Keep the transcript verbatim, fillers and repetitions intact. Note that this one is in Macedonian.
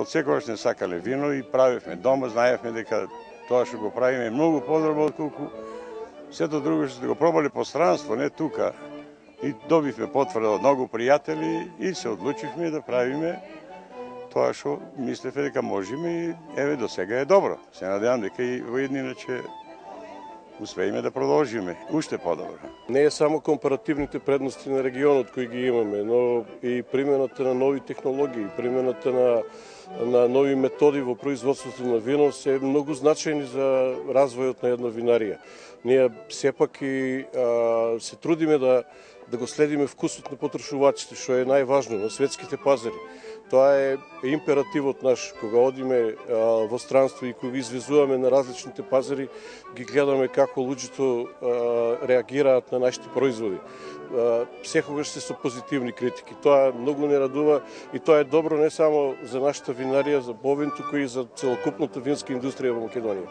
од секогаш не сакале вино и правевме дома, знаевме дека тоа што го правиме е многу подобро отколку сето друго што го пробале по странство, не тука. И добивме потврда од многу пријатели и се одлучивме да правиме тоа што мислевме дека можеме и еве до сега е добро. Се надевам дека и во иднина ќе успееме да продолжиме уште подобро. Не е само компаративните предности на регионот кои ги имаме, но и примената на нови технологии, примената на на нови методи во производството на вино се многу значајни за развојот на една винарија. Ние сепак и а, се трудиме да да го следиме вкусот на потрошувачите, што е најважно на светските пазари. Тоа е императивот наш. Кога одиме а, во странство и кога извезуваме на различните пазари, ги гледаме како луѓето а, реагираат на нашите производи. А, секогаш се со позитивни критики. Тоа многу не радува и тоа е добро не само за нашата винарија, за Бовин, туку и за целокупната винска индустрија во Македонија.